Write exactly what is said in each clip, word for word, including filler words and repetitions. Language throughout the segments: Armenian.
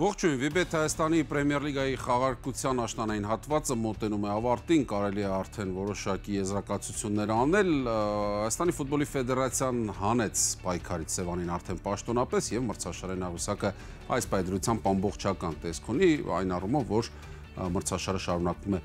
Ողջույն, Վիբեթ Հայաստանի Պրեմիեր լիգայի խաղարկության աշնանային հատվածը մոտենում է ավարտին, կարելի է արդեն որոշակի եզրակացություններ անել։ Հայաստանի ֆուտբոլի ֆեդերացիան հանեց պայքարից Սևանին արդեն պաշտոնապես եւ մրցաշարային աղյուսակը այս պայդրությամբ ամբողջական տեսք ունի, այն առումով, որ մրցաշարը շարունակվում է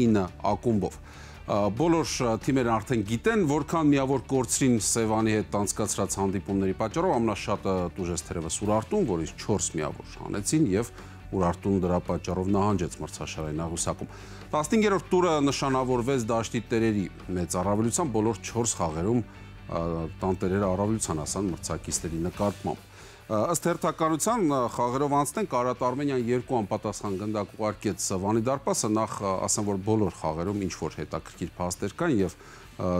ինը ակումբով։ Բոլոր թիմերն արդեն գիտեն, որքան միավոր կորցրին Սևանի հետ անցկացրած հանդիպումների պատճառով, ամենաշատը տուժեց թերևս Ուրարտուն, որից չորս միավոր հանեցին եւ Ուրարտուն դրա պատճառով նահանջեց մրցաշարային աղյուսակում։ տասնհինգերորդ տուրը նշանավորվեց դաշտի տերերի մեծ առավելությամբ, բոլոր չորս խաղերում տանտերերը առավելության հասան մրցակիցների նկատմամբ։ Ըստ հերթականության խաղերով անցնենք, Արարատ Արմենիան երկու անպատասխան գնդակ ուղարկեց Վանի դարպասը, նախ ասեմ, որ բոլոր խաղերում ինչ որ հետաքրքիր փաստեր կան եւ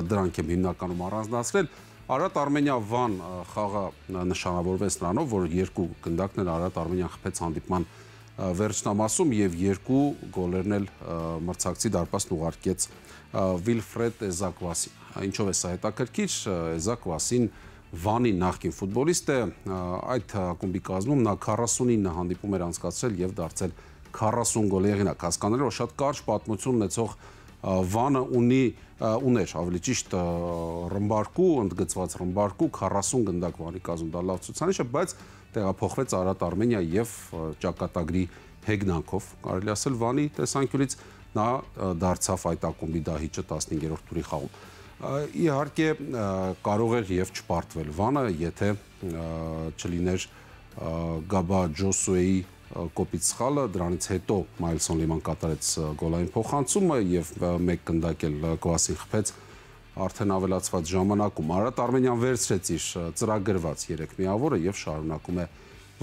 դրանք եմ հիմնականում առանձնացրել։ Արարատ Արմենիա Վան խաղը նշանավորվեց նրանով, որ երկու գնդակներ Արարատ Արմենիան խփեց հանդիպման վերջնամասում եւ երկու գոլերն էլ մրցակցի դարպասն ուղարկեց Վիլֆրեդ Էզակվասին։ Ինչով է սա հետաքրքիր, Էզակվասին Վանի նախկին ֆուտբոլիստ է, այդ ակումբի կազմում նա քառասունինը հանդիպում էր անցկացրել եւ դարձել քառասուն գոլի հեղինակ, հասկանալի որ շատ կարճ պատմություն ունեցող Վանը ունի ուներ ավելի ճիշտ ռմբարկու, ընդգծված ռմբարկու քառասուն գնդակ Վանի կազմում, դա լավ ցուցանիշ է, բայց տեղափոխվեց Արարատ Արմենիա եւ ճակատագրի հեգնանքով, կարելի ասել Վանի տեսանկյունից նա դարձավ այդ ակումբի դահիճը տասնհինգերորդ տուրի խաղում։ Իհարկե կարող էր եւ չպարտվել Վանը, եթե չլիներ Գաբա Ջոսուեի կոպիտ սխալը, դրանից հետո Մայլսոն Լիման կատարեց գոլային փոխանցումը եւ մեկ գնդակ էլ Կվասին խփեց արդեն ավելացված ժամանակում։ Արարատ Արմենիան վերցրեց իր ծրագրված երեք միավորը եւ շարունակում է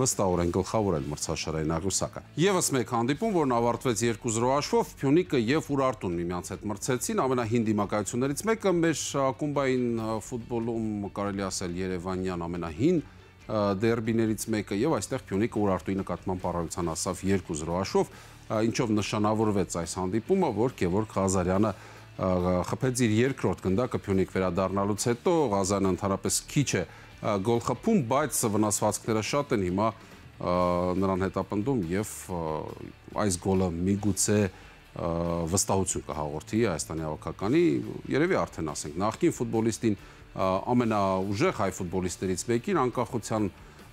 վստահորեն գլխավորել մրցաշարային աղյուսակը։ Եվս մեկ հանդիպում, որն ավարտվեց երկու զրո հաշվով, Փյունիկը եւ Ուրարտուն միմյանց հետ մրցեցին, ամենահին դիմակայություններից մեկը մեր ակումբային ֆուտբոլում կարելի ասել Երևանյան ամենահին դերբիներից մեկը եւ այստեղ Փյունիկը Ուրարտուի նկատմամբ առավելության հասավ երկու զրո հաշվով, ինչով նշանավորվեց այս հանդիպումը, որ Գևորգ Ղազարյանը խփեց իր երկրորդ գնդակը Փյունիկ վերադառնալուց հետո, Ղազարյանը ընդհանրապես քիչ է գոլ խփում, բայց վնասվածքները շատ են հիմա նրան հետապնդում եւ այս գոլը միգուցե վստահություն կհաղորդի Հայաստանի հավաքականի, երևի արդեն ասենք նախկին ֆուտբոլիստին ամենաուժեղ հայ ֆուտբոլիստներից մեկին, անկախության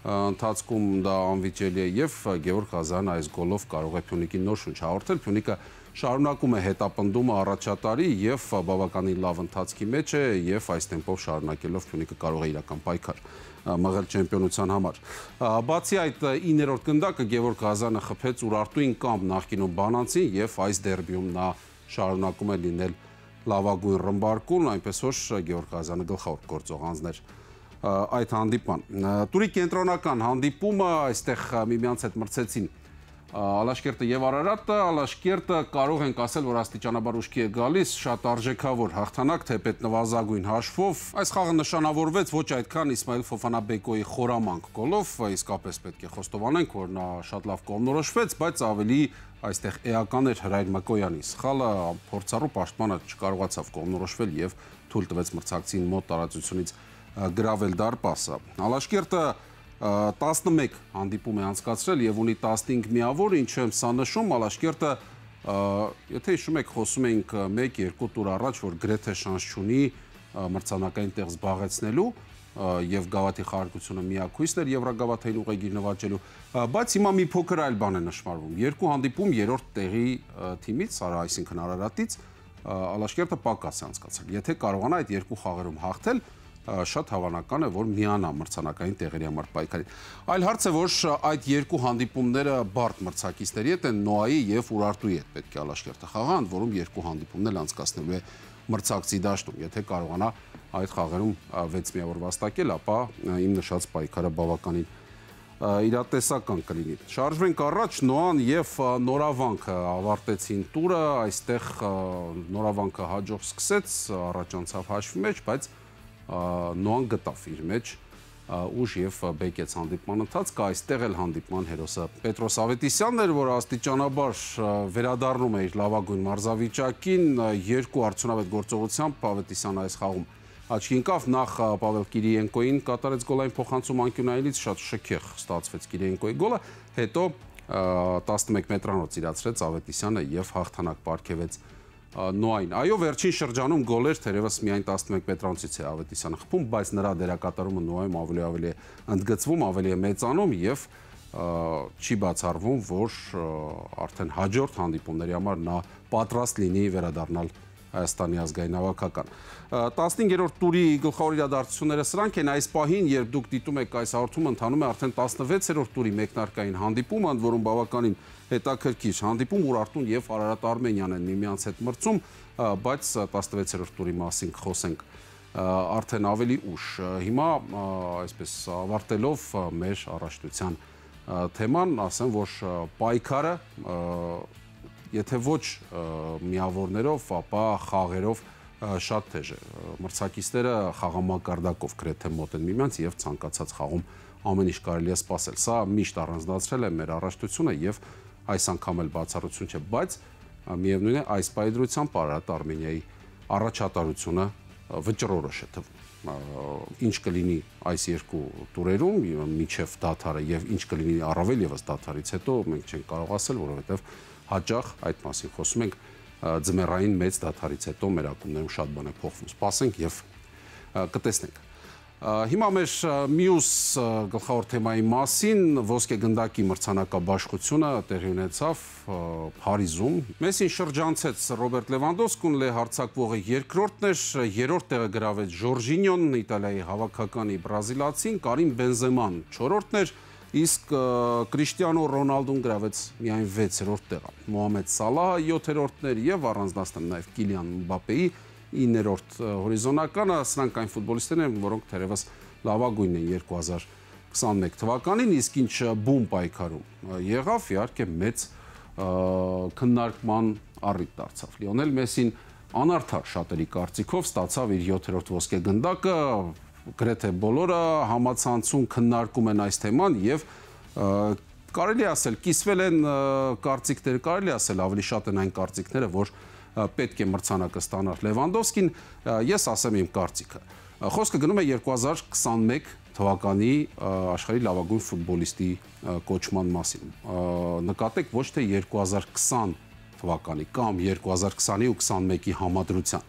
ընթացքում դա անվիճելի է եւ Գևորգ Ղազարյանը այս գոլով կարող է Փյունիկին նոր շունչ հաղորդել։ Փյունիկը շարունակում է հետապնդումը առաջատարի եւ բավականին լավ ընթացքի մեջ է եւ այս տեմպով շարունակելով Փյունիկը կարող է իրական պայքար մղել չեմպիոնության համար։ Բացի այդ իններորդ գնդակը Գևորգ Ղազարյանը խփեց Ուրարտուին կամ նախկինում Բանանցին եւ այս դերբիում նա շարունակում է լինել լավագույն ռմբարկուն, այնպես որ Գևորգ Ղազարյանը գլխավոր գործող անձներ այդ հանդիպման։ Տուրի կենտրոնական հանդիպումը, այստեղ միմյանց հետ մրցեցին Ալաշկերտը եւ Արարատը, Ալաշկերտը կարող ենք ասել, որ աստիճանաբար ուշքի է գալիս, շատ արժեքավոր հաղթանակ, թեպետ նվազագույն հաշվով։ Այս խաղը նշանավորվեց ոչ այդքան Իսմայել Ֆոֆանաբեկոյի խորամանկ գոլով, իսկապես պետք է խոստովանենք, որ նա շատ լավ կողմնորոշվեց, բայց ավելի այստեղ էական էր Հրայր Մկոյանի սխալը, փորձառու պաշտպանը չկարողացավ կողմնորոշվել եւ թույլ տվեց մրցակցին մոտ տարածությունից գրավել դարպասը։ Ալաշկերտը տասնմեկ հանդիպում է անցկացրել եւ ունի տասնհինգ միավոր, ինչու եմ սա նշում, Ալաշկերտը, եթե հիշում եք, խոսում էինք մեկ երկու տուր առաջ, որ գրեթե շանս չունի մրցանակային տեղ զբաղեցնելու եւ գավաթի խաղարկությունը միակույսն էր Եվրոգավաթային ուղեգիր նվաճելու, բայց հիմա մի փոքր այլ բան է նշмарվում։ Երկու հանդիպում երրորդ տեղի թիմից, արա այսինքն Արարատից, Ալաշկերտը պակաս է անցկացրել։ Եթե կարողանա այդ երկու խաղերում հաղթել, շատ հավանական է, որ միանա մրցանակային տեղերի համար պայքարին։ Այլ հարց է, որ այդ երկու հանդիպումները բարդ մրցակիցների հետ են, Նոայի եւ Ուրարտուի հետ պետք է Ալաշկերտը խաղա, ընդ որում երկու հանդիպումն էլ անցկացնելու է մրցակցի դաշտում։ Եթե կարողանա այդ խաղերում վեց միավոր վաստակել, ապա իմ նշած պայքարը բավականին իրատեսական կլինի։ Շարժվենք առաջ, Նոան եւ Նորավանքը ավարտեցին տուրը, այստեղ Նորավանքը հաջող սկսեց, առաջ անցավ հաշվի մեջ, բայց Նոան գտավ իր մեջ ուժ եւ բեկեց հանդիպման ընթացքը, այստեղ էլ հանդիպման հերոսը Պետրոս Ավետիսյանն էր, որ աստիճանաբար վերադառնում է իր լավագույն մարզավիճակին, երկու արդյունավետ գործողությամբ Ավետիսյանը այս խաղում աչքի ընկավ, նախ Պավել Կիրիենկոին կատարեց գոլային փոխանցում անկյունայինից, շատ շքեղ ստացվեց Կիրիենկոյի գոլը, հետո տասնմեկ մետրանոց իրացրեց Ավետիսյանը եւ հաղթանակ պարգևեց Նոային։ Այո, վերջին շրջանում գոլեր թերևս միայն տասնմեկ մետրանոցից է Ավետիսյանը խփում, բայց նրա դերակատարումը Նոայում ավելի ավելի է ընդգծվում, ավելի է մեծանում եւ չի բացառվում, որ արդեն հաջորդ հանդիպումների համար նա պատրաստ լինի վերադառնալ Հայաստանի ազգային հավաքական։ տասնհինգերորդ տուրի գլխավոր իրադարձությունները սրանք են այս պահին, երբ դուք դիտում եք այս հաղորդումը, ընթանում է արդեն տասնվեցերորդ տուրի մեկնարկային հանդիպումը, ընդ որում բավականին հետաքրքիր հանդիպում, Ուրարտուն եւ Արարատ Արմենիան են միմյանց հետ մրցում, բայց տասնվեցերորդ տուրի մասին կխոսենք արդեն ավելի ուշ։ Հիմա այսպես ավարտելով մեր առաջնության թեման, ասեմ, որ պայքարը եթե ոչ միավորներով, ապա խաղերով շատ թեժ է։ Մրցակիցները խաղամակարդակով գրեթե մոտ են միմյանց եւ ցանկացած խաղում ամեն ինչ կարելի է սպասել։ Սա միշտ առանձնացրել է մեր առաջնությունը եւ այս անգամ էլ բացառություն չէ, բայց միևնույն է այս պայդրությամբ Արարատ Արմենիայի առաջատարությունը վճռորոշ է թվում։ Ինչ կլինի այս երկու տուրերում միջև դադարը եւ ինչ կլինի առավել եւս դադարից հետո մենք չենք կարող ասել, որովհետեւ հաճախ այդ մասին խոսում ենք ձմեռային մեծ դադարից հետո մեր ակումբներում շատ բան է փոխվում։ Սպասենք եւ կտեսնենք։ Հիմա մեր մյուս գլխավոր թեմայի մասին ոսկեգնդակի մրցանակաբաշխությունը տեղի ունեցավ Փարիզում։ Մեսին շրջանցեց Ռոբերտ Լևանդովսկուն, լե հարձակվողը երկրորդն էր, երրորդ տեղը գրավեց Ժորժինյոն, Իտալիայի հավաքականի բրազիլացին, Կարիմ Բենզեման չորրորդն էր, իսկ Կրիշտիանո Ռոնալդուն գրավեց միայն վեցերորդ տեղը։ Մոհամեդ Սալահը յոթերորդն էր եւ առանձնացնել նաեւ Կիլիան Մբապեի իններորդ հորիզոնականը, սրանք այն ֆուտբոլիստներն են, որոնք թերևս լավագույնն են երկու հազար քսաներեք թվականին, իսկ ինչ բում պայքարում եղավ, իհարկե մեծ քննարկման առիթ դարձավ։ Լիոնել Մեսին անարդար շատերի կարծիքով ստացավ իր յոթերորդ ոսկեգնդակը, գրեթե բոլորը համացանցում քննարկում են այս թեման եւ կարելի ասել կիսվել են կարծիքները, կարելի ասել ավելի շատ են այն կարծիքները, որ պետք է մրցանակը ստանար Լևանդովսկին, ես ասեմ իմ կարծիքը։ Խոսքը գնում է երկու հազար քսաներեք թվականի աշխարհի լավագույն ֆուտբոլիստի կոչման մասին։ Նկատեք ոչ թե երկու հազար քսան թվականի կամ երկու հազար քսանի ու քսաներեքի համադրության։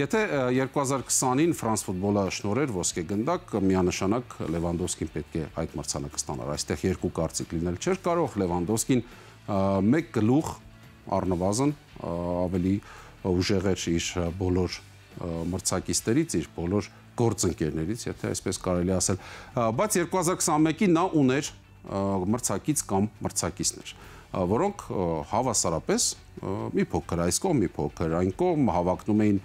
Եթե երկու հազար քսանին Ֆրանս ֆուտբոլը շնորհեր ոսկեգնդակ, միանշանակ Լևանդովսկին պետք է այդ մրցանակը ստանար։ Այստեղ երկու կարծիք լինել չէր կարող, Լևանդովսկին մեկ գլուխ առնվազն ավելի ուժեղ էր իր բոլոր մրցակիցներից, իր բոլոր գործընկերներից, եթե այսպես կարելի ասել, բայց երկու հազար քսաներեքին նա ուներ մրցակից կամ մրցակիցներ, որոնք հավասարապես մի փոքր այս կողմ, մի փոքր այն կողմ հավակնում էին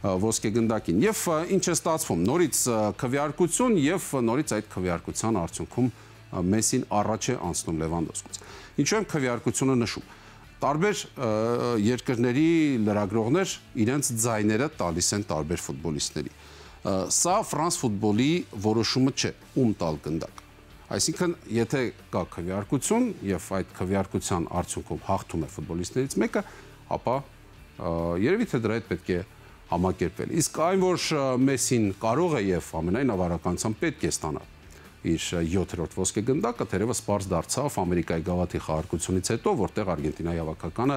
ոսկեգնդակին։ Եվ ինչ է ստացվում, նորից քվեարկություն եւ նորից այդ քվեարկության արդյունքում Մեսին առաջ է անցնում Լևանդովսկուց։ Ինչու եմ քվեարկությունը նշում։ Տարբեր երկրների լրագրողներ իրենց ձայները տալիս են տարբեր ֆուտբոլիստների։ Սա Ֆրանս ֆուտբոլի որոշումը չէ, ում տալ գնդակ։ Այսինքն, եթե կա քվեարկություն եւ այդ քվեարկության արդյունքում հաղթում է ֆուտբոլիստներից մեկը, ապա երևի թե դրա հետ պետք է համակերպվել։ Իսկ այն, որ Մեսին կարող է եւ ամենայն ավարականությամբ պետք է ստանա իր յոթերորդ ոսկեգնդակը, թերևս պարզ դարձավ Ամերիկայի գավաթի խաղարկությունից հետո, որտեղ Արգենտինայի հավաքականը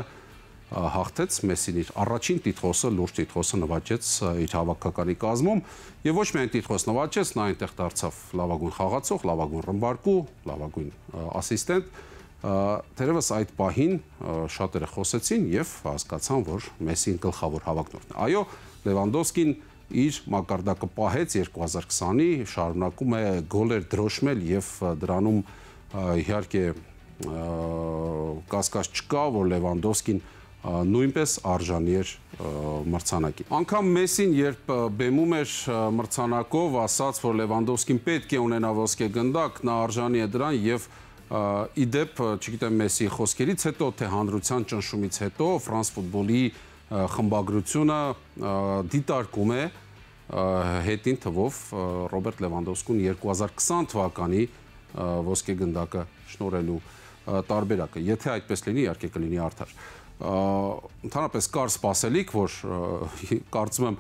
հաղթեց Մեսին իր առաջին տիտղոսը, լուրջ տիտղոսը նվաճեց իր հավաքականի կազմում եւ ոչ միայն տիտղոս նվաճեց, նա այնտեղ դարձավ լավագույն խաղացող, լավագույն ռմբարկու, լավագույն ասիստենտ։ Թերևս այդ պահին շատերը խոսեցին եւ հասկացան, որ Մեսին գլխավոր հավակնորդն է։ Այո, Լևանդովսկին իր մակարդակը պահեց երկու հազար քսանի, շարունակում է գոլեր դրոշմել եւ դրանում իհարկե կասկած չկա, որ Լևանդովսկին նույնպես արժանի էր մրցանակի։ Անկամ Մեսին, երբ բեմում էր մրցանակով, ասաց, որ Լևանդովսկին պետք է ունենա ոսկեգնդակ, նա արժանի է դրան եւ իդեպ, չգիտեմ Մեսիի խոսքերից հետո, թե հանրության ճնշումից հետո Ֆրանս ֆուտբոլի խմբագրությունը դիտարկում է հետին թվով Ռոբերտ Լևանդովսկուն երկու հազար քսան թվականի ոսկեգնդակը շնորհելու տարբերակը։ Եթե այդպես լինի, իհարկե կլինի արդար։ Ընդհանրապես կար սպասելիք, որ կարծում եմ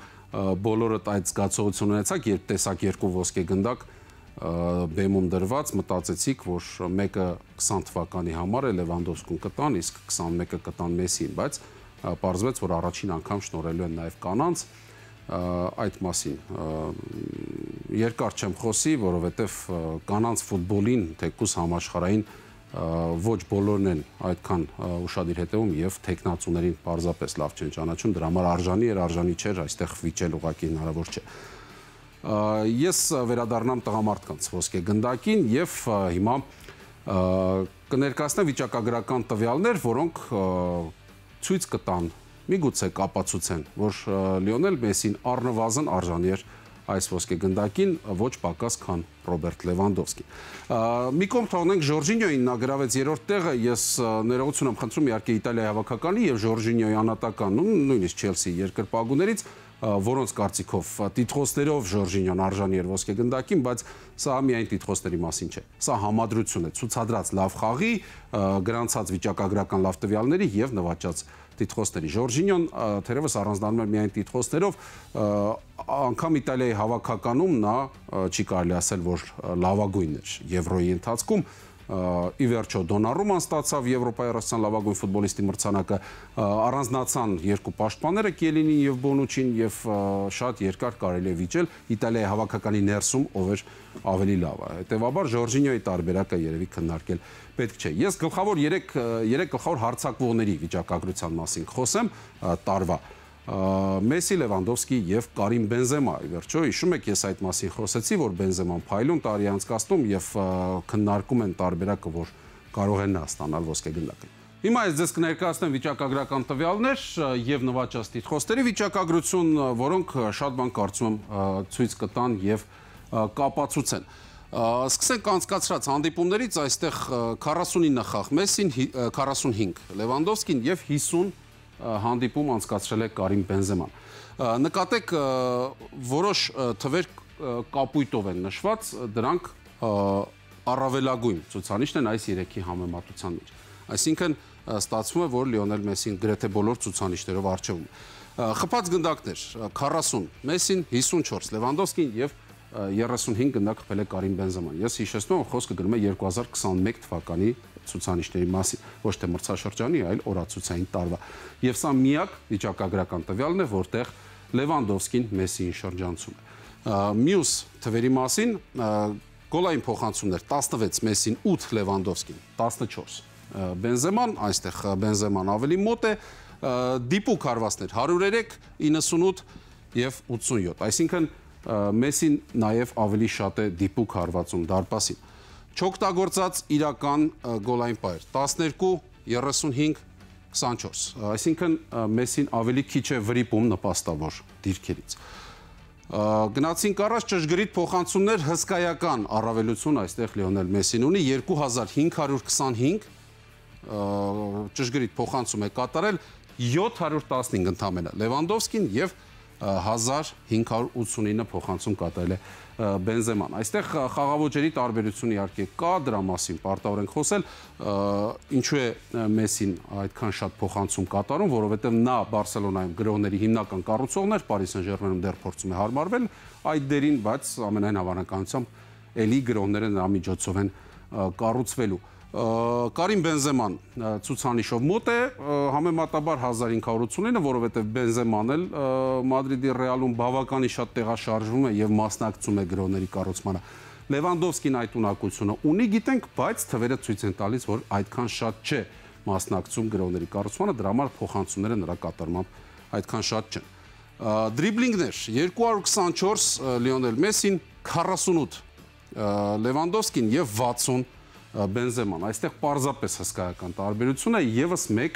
բոլորդ այդ զգացողություն ունեցաք, երբ տեսաք երկու ոսկեգնդակ բեմում դրված, մտածեցիք, որ մեկը քսան թվականի համար է Լևանդովսկուն կտան, իսկ քսանմեկը կտան Մեսսին, բայց պարզվեց, որ առաջին անգամ շնորհելու են նաև կանանց այդ մասին երկար չեմ խոսի, որովհետև կանանց ֆուտբոլին թեկուզ համաշխարհային ոչ բոլորն են այդքան ուշադիր հետևում եւ տեխնացուներին պարզապես լավ չեն ճանաչում, դրա համար արժանի էր, արժանի չէր, այստեղ վիճել ուղղակի հնարավոր չէ։ Ես վերադառնամ տղամարդկանց ոսկե գնդակին եւ հիմա կներկայացնեմ վիճակագրական տվյալներ, որոնք ցույց կտան, միգուցե կապացուցեն, որ Լիոնել Մեսսին առնվազն արժանի էր այս ոսկե գնդակին, ոչ պակաս քան Ռոբերտ Լևանդովսկին։ Մի կողմ թողնենք Ժորժինյոին, նա գրավեց երրորդ տեղը, ես ներողություն եմ խնդրում իհարկե Իտալիայի հավաքականի եւ Ժորժինյոյի անհատական, նույնիսկ Չելսի երկրպագուներից, որոնց կարծիքով տիտղոսներով Ժորժինյոն արժանի էր ոսկե գնդակին, բայց սա միայն տիտղոսների մասին չէ։ Սա համադրություն է, ցուցադրած լավ խաղի, գրանցած վիճակագրական լավ տվյալների եւ նվաճած տիտղոսների։ Ժորժինյոն թերևս առանձնանում էր միայն տիտղոսներով, անգամ Իտալիայի հավաքականում նա չի կարելի ասել, որ լավագույնն էր Եվրոյի ընթացքում, ի վերջո Դոնառուման ստացավ Եվրոպայի առասության լավագույն ֆուտբոլիստի մրցանակը, առանձնացան երկու պաշտպանները Կիելինին եւ Բոնուչին եւ շատ երկար կարելի է վիճել Իտալիայի հավաքականի ներսում ով էր ավելի լավը։ Հետևաբար Ժորժինյոյի տարբերակը երևի քննարկել պետք չէ։ Ես գլխավոր երեք գլխավոր հարցակվողների վիճակագրության մասին խոսեմ տարվա։ Մեսսի, Լևանդովսկի եւ Կարիմ Բենզեմա, ի վերջո հիշում եք, ես այդ մասին խոսեցի, որ Բենզեման փայլուն տարի անցկացնում եւ քննարկում են տարբերակը, որ կարող են նա ստանալ ոսկե գնդակը։ Հիմա ես ձեզ կներկայացնեմ վիճակագրական տվյալներ եւ նվաճած տիտղոսների վիճակագրություն, որոնք շատ բան կարծում եմ ցույց կտան եւ կապացուցեն։ Սկսենք անցկացրած հանդիպումներից, այստեղ քառասունինը խաղ Մեսսին, քառասունհինգ Լևանդովսկին եւ հիսուն հանդիպում անցկացրել է Կարիմ Բենզեման։ Նկատեք, որոշ թվեր կապույտով են նշված, դրանք առավելագույն ցուցանիշն են այս երեքի համեմատության մեջ։ Այսինքն ստացվում է, որ Լիոնել Մեսսին գրեթե բոլոր ցուցանիշներով առջևում է։ Խփած գնդակներ քառասուն Մեսսին, հիսունչորս Լևանդովսկին եւ երեսունհինգ գնդակ խփել է Կարիմ Բենզեման։ Ես հիշեցնում եմ, խոսքը գնում է երկու հազար քսանմեկ թվականի ցուցանիշների մասին, ոչ թե մրցաշրջանի, այլ օրացուցային տարվա։ Եվ սա միակ վիճակագրական տվյալն է, որտեղ Լևանդովսկին Մեսսիին շրջանցում է։ Մյուս թվերի մասին գոլային փոխանցումներ տասնվեց Մեսսին, ութ Լևանդովսկին, տասնչորս Բենզեման, այստեղ Բենզեման ավելի մոտ է, դիպուկ հարվածներ հարյուր երեք, իննսունութ եւ ութսունյոթ, այսինքն Մեսսին նաև ավելի շատ է դիպուկ հարվածում դարպասին։ Չօգտագործած իրական գոլային պայր տասներկու, երեսունհինգ, քսանչորս, այսինքն Մեսսին ավելի քիչ է վրիպում նպաստավոր դիրքերից։ Գնացինք առաջ ճշգրիտ փոխանցումներ, հսկայական առավելություն այստեղ Լիոնել Մեսսին ունի, երկու հազար հինգ հարյուր քսանհինգ ճշգրիտ փոխանցում է կատարել, յոթ հարյուր տասնհինգ ընդամենը Լևանդովսկին եւ հազար հինգ հարյուր ութսունինը փոխանցում կատարել է Բենզեման։ Այստեղ խաղաոճերի տարբերություն իհարկե կա, դրա մասին պարտավոր ենք խոսել, ինչու է Մեսսին այդքան շատ փոխանցում կատարում, որովհետև նա Բարսելոնայում գրողների հիմնական կառուցողն էր, Պարի Սեն-Ժերմենում դեռ փորձում է հարմարվել այդ դերին, բայց ամենայն հավանականությամբ էլի գրողները նրա միջոցով են կառուցվելու։ Կարիմ Բենզեման ցուցանիշով մոտ է, համեմատաբար հազար հինգ հարյուր ութսունինը, որովհետև Բենզեման էլ Մադրիդի Ռեալում բավականին շատ տեղաշարժվում է եւ մասնակցում է գրողների կառուցմանը։ Լևանդովսկին այդ ունակությունը ունի, գիտենք, բայց թվերը ցույց են տալիս, որ այդքան շատ չէ մասնակցում գրողների կառուցմանը, դրա համար փոխանցումները նրա կատարմամբ այդքան շատ չեն։ Դրիբլինգներ երկու հարյուր քսանչորս Լիոնել Մեսսին, քառասունութ Լևանդովսկին եւ վաթսուն Բենզեման, այստեղ պարզապես հսկայական տարբերություն է, եւս մեկ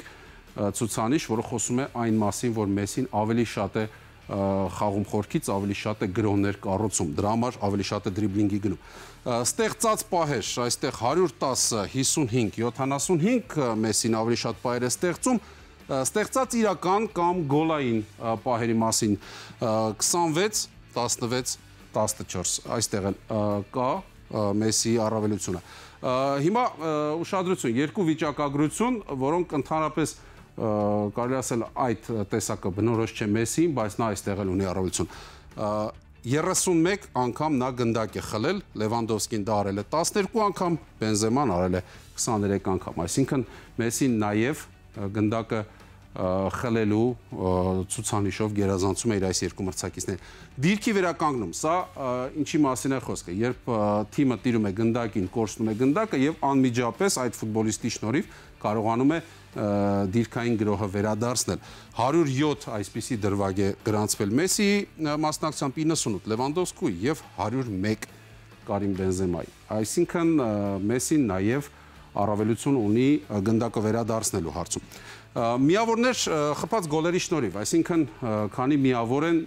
ցուցանիշ, որը խոսում է այն մասին, որ Մեսսին ավելի շատ է խաղում խորքից, ավելի շատ է գրողներ կառուցում, դրա համար ավելի շատ է դրիբլինգի գնում։ Ստեղծած պահեր, այստեղ հարյուր տասը, հիսունհինգ, յոթանասունհինգ Մեսսին ավելի շատ պահեր է ստեղծում, ստեղծած իրական կամ գոլային պահերի մասին քսանվեց, տասնվեց, տասնչորս, այստեղ կա Մեսսիի առավելությունը։ Հիմա ուշադրություն, երկու վիճակագրություն, որոնք ընդհանրապես կարելի ասել այդ տեսակը բնորոշ չէ Մեսսիին, բայց նա այստեղ էլ ունի առավելություն։ երեսունմեկ անգամ նա գնդակ է խլել, Լևանդովսկին դա արել է տասներկու անգամ, Բենզեման արել է քսաներեք անգամ, այսինքն Մեսին նաև գնդակը խլելու ցուցանիշով գերազանցում է իր այս երկու մրցակիցներին։ Դիրքի վերականգնում, սա ինչի մասին է խոսքը, երբ թիմը տիրում է գնդակին, կորցնում է գնդակը եւ անմիջապես այդ ֆուտբոլիստի շնորհիվ կարողանում է դիրքային գրոհը վերադարձնել։ հարյուր յոթ այսպիսի դրվագ է գրանցվել Մեսիի մասնակցությամբ, իննսունութ Լևանդովսկու եւ հարյուր մեկ Կարիմ Բենզեմայի։ Այսինքն Մեսին նաեւ առավելություն ունի գնդակը վերադարձնելու հարցում։ Միավորներ խփած գոլերի շնորհիվ, այսինքն քանի միավոր են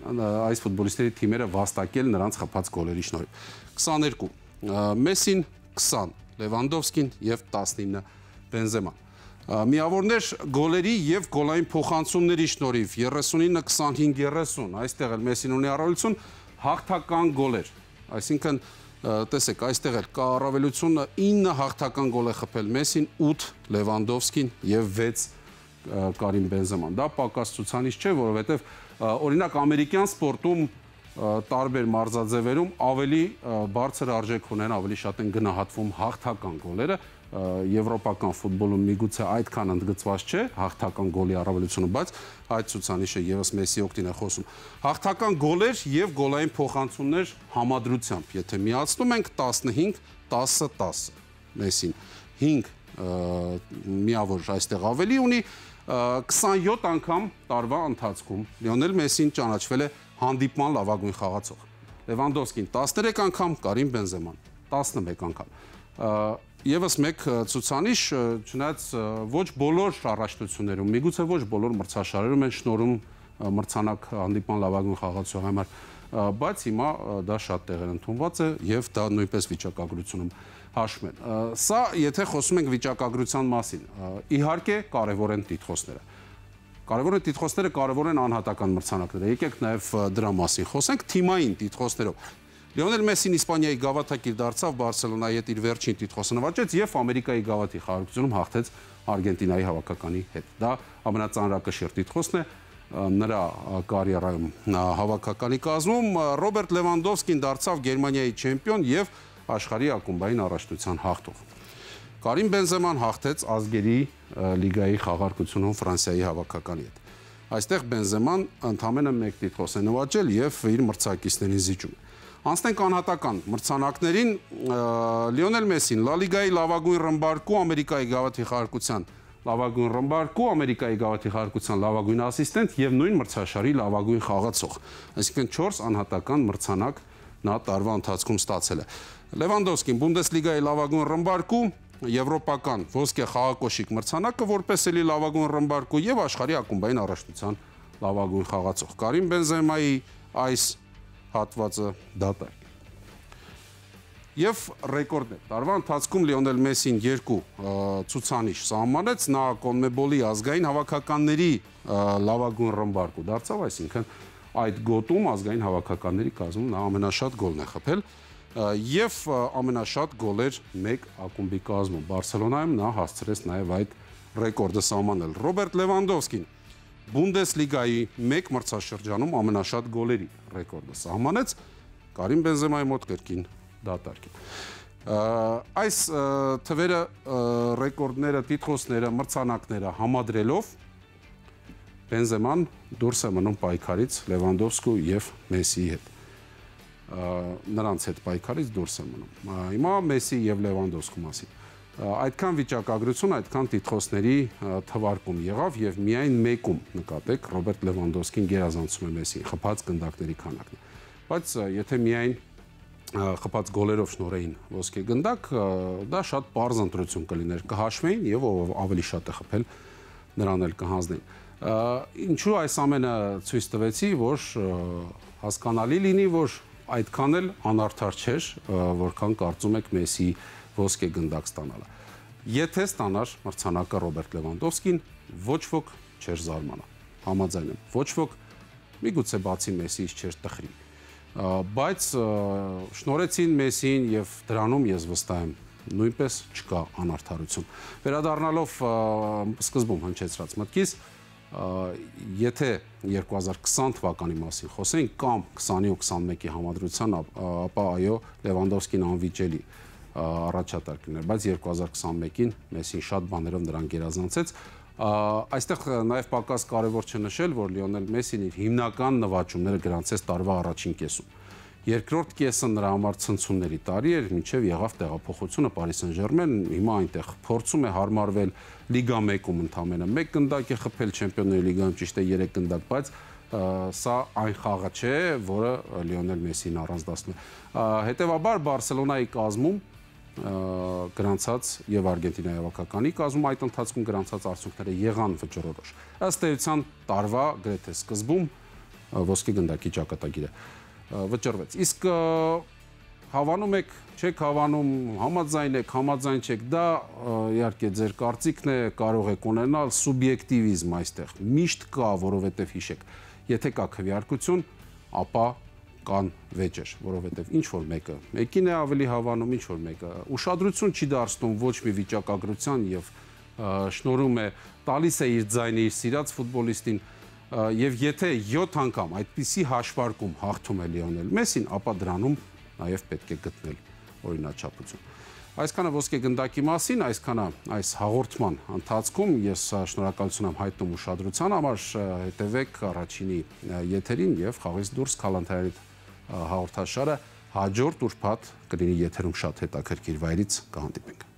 այս ֆուտբոլիստների թիմերը վաստակել նրանց խփած գոլերի շնորհիվ։ քսաներկու Մեսին, քսան Լևանդովսկին եւ տասնինը Բենզեման։ Միավորներ գոլերի եւ գոլային փոխանցումների շնորհիվ երեսունինը քսանհինգ երեսուն, այստեղ էլ Մեսին ունի առավելություն, հաղթական գոլեր, այսինքն տեսեք, այստեղ էլ կա առավելությունը ինը հաղթական գոլ է խփել Մեսին, ութ Լևանդովսկին եւ վեց Կարիմ Բենզեման։ Դա պակաս ցուցանիշ չէ, որովհետեւ օրինակ ամերիկյան սպորտում տարբեր մարզաձևերում ավելի բարձր արժեք ունեն, ավելի շատ են գնահատվում հաղթական գոլերը, եվրոպական ֆուտբոլում միգուցե այդքան ընդգծված չէ հաղթական գոլի առավելությունը, բայց այդ ցուցանիշը եւս Մեսսի օգտին է խոսում։ Հաղթական գոլեր եւ գոլային փոխանցումներ համադրությամբ, եթե միացնում ենք տասնհինգ տասը տասը Մեսին հինգ միավոր այստեղ ավելի ունի, քսանյոթ անգամ տարվա ընթացքում Լիոնել Մեսին ճանաչվել է հանդիպման լավագույն խաղացող։ Լևանդովսկին տասներեք անգամ, Կարիմ Բենզեման տասնմեկ անգամ։ Եվս մեկ ցուցանիշ, չնայած ոչ բոլոր առաջնություններում, միգուցե ոչ բոլոր մրցաշարերում են շնորհում մրցանակ հանդիպման լավագույն խաղացողի համար, բայց հիմա դա շատ տեղեր ընդունված է եւ դա նույնպես վիճակագրությունում հաշվում են։ Սա եթե խոսում ենք վիճակագրության մասին, իհարկե կարևոր են տիտղոսները։ Կարևոր են տիտղոսները, կարևոր են անհատական մրցանակները։ Եկեք նաեւ դրա մասին խոսենք թիմային տիտղոսներով։ Լիոնել Մեսին Իսպանիայի գավաթակիր դարձավ, Բարսելոնայի հետ իր վերջին տիտղոսը նվաճեց եւ Ամերիկայի գավաթի խաղարկությունում հաղթեց Արգենտինայի հավաքականի հետ։ Դա ամենածանրակշիռ տիտղոսն է նրա կարիերայում հավաքականի կազմում։ Ռոբերտ Լևանդովսկին դարձավ Գերմանիայի չեմպիոն եւ աշխարհի ակումբային առաջնության հաղթող։ Կարիմ Բենզեման հաղթեց ազգերի լիգայի խաղարկությունում Ֆրանսիայի հավաքականի հետ։ Այստեղ Բենզեման ընդամենը մեկ տիտղոս է նվաճել եւ իր մրցակիցներին զիջում։ Անցնենք անհատական մրցանակներին, Լիոնել Մեսին Լա Լիգայի լավագույն ռմբարկու, Ամերիկայի գավաթի խաղարկության լավագույն ռմբարկու, Ամերիկայի գավաթի խաղարկության լավագույն ասիստենտ եւ նույն մրցաշարի լավագույն խաղացող։ Այսինքն չորս անհատական մրցանակ նա տարվա ընթացքում ստացել է։ Լևանդովսկին Բունդեսլիգայի լավագույն ռմբարկու, եվրոպական ոսկե խաղակոշիկ մրցանակը որպես էլի լավագույն ռմբարկու եւ աշխարհի ակումբային առաջնության լավագույն խաղացող։ Կարիմ Բենզեմայի այս հատվածը դատարկ։ Եվ ռեկորդներ։ Տարվա ընթացքում Լիոնել Մեսին երկու ցուցանիշ սահմանեց, նա Կոնմեբոլի ազգային հավաքականների լավագույն ռմբարկու դարձավ, այսինքն այդ գոտում ազգային հավաքականների կազմում նա ամենաշատ գոլն է խփել եւ ամենաշատ գոլեր մեկ ակումբի կազմում։ Բարսելոնայում նա հասցրեց նաեւ այդ ռեկորդը սահմանել։ Ռոբերտ Լևանդովսկին Բունդեսլիգայի մեկ մրցաշրջանում ամենաշատ գոլերի ռեկորդը սահմանեց, Կարիմ Բենզեմայի մոտ կրկին դատարկ է։ Այս թվերը, ռեկորդները, տիտղոսները, մրցանակները համադրելով Բենզեման դուրս է մնում պայքարից Լևանդովսկու եւ Մեսիի հետ։ Նրանց հետ պայքարից դուրս է մնում։ Հիմա Մեսի եւ Լևանդովսկու մասին։ Այդքան վիճակագրություն, այդքան տիտղոսների թվարկում եղավ եւ միայն մեկում նկատեք Ռոբերտ Լևանդովսկին գերազանցում է Մեսիին, խփած գնդակների քանակն է։ Բայց եթե միայն խփած գոլերով շնորհեին ոսկե գնդակ, դա շատ པարզ ընտրություն կլիներ, կհաշվեին եւ ով ավելի շատ է խփել, նրան էլ կհանձնեին։ Ինչու այս ամենը ցույց տվեցի, որ հասկանալի լինի, որ այդքան էլ անարդար չէր, որքան կարծում եք Մեսի ոսկե գնդակ ստանալը։ Եթե ստանար մրցանակը Ռոբերտ Լևանդովսկին, ոչ ոք չէր զարմանա։ Համաձայն եմ, ոչ ոք միգուցե բացի Մեսիից չէր տխրի։ Բայց շնորհեցին Մեսիին եւ դրանում ես վստահ եմ, նույնպես չկա անարդարություն։ Վերադառնալով սկզբում հնչեցրած մտքից, Եթե երկու հազար քսան թվականի մասին խոսենք կամ քսանի ու քսանմեկի համադրության, ապա այո, Լևանդովսկին անվիճելի առաջատար կներ, բայց երկու հազար քսանմեկին Մեսսին շատ բաներով նրան գերազանցեց։ Այստեղ նաև պակաս կարևոր չնշել, որ Լիոնել Մեսսին իր հիմնական նվաճումները գրանցեց տարվա առաջին կեսում։ Երկրորդ կեսը նրա համար ցնցումների տարի էր, մինչև եղավ տեղափոխությունը Պարի Սեն-Ժերմեն, հիմա այնտեղ փորձում է հարմարվել Լիգա մեկում ընդամենը մեկ գնդակ է խփել, Չեմպիոնների լիգայում ճիշտ է երեք գնդակ, բայց սա այն խաղը չէ, որը Լիոնել Մեսսին առանձնացնում է։ Հետևաբար Բարսելոնայի կազմում գրանցած եւ Արգենտինայի հավաքականի կազմում այդ ընթացքում գրանցած արդյունքները եղան վճռորոշ։ Ըստ էության տարվա գրեթե սկզբում ոսկե գնդակի ճակատագիրը վճռվեց։ Իսկ հավանում եք, չեք հավանում, համաձայն եք, համաձայն չեք, դա իհարկե ձեր կարծիքն է, կարող եք ունենալ սուբյեկտիվիզմ այստեղ։ Միշտ կա, որովհետեւ հիշեք, եթե կա քվեարկություն, ապա կան վեճեր, որովհետև ինչ որ մեկը մեկին է ավելի հավանում, ինչ որ մեկը ուշադրություն չի դարձնում ոչ մի վիճակագրության եւ շնորհում է տալիս է իր ձայնը իր սիրած ֆուտբոլիստին եւ եթե յոթ անգամ այդպիսի հաշվարկում հաղթում է Լիոնել Մեսսին, ապա դրանում նաեւ պետք է գտնել օրինաչափություն։ Այսքանը ոսկե գնդակի մասին, այսքանը այս հաղորդման ընթացքում ես շնորհակալություն եմ հայտնում ուշադրության համար, հետևեք առաջինի եթերին եւ խաղից դուրս Քալանթարի հաղորդաշարը հաջորդ ուրբաթ կլինի եթերում շատ հետաքրքիր վայրից կհանդիպենք։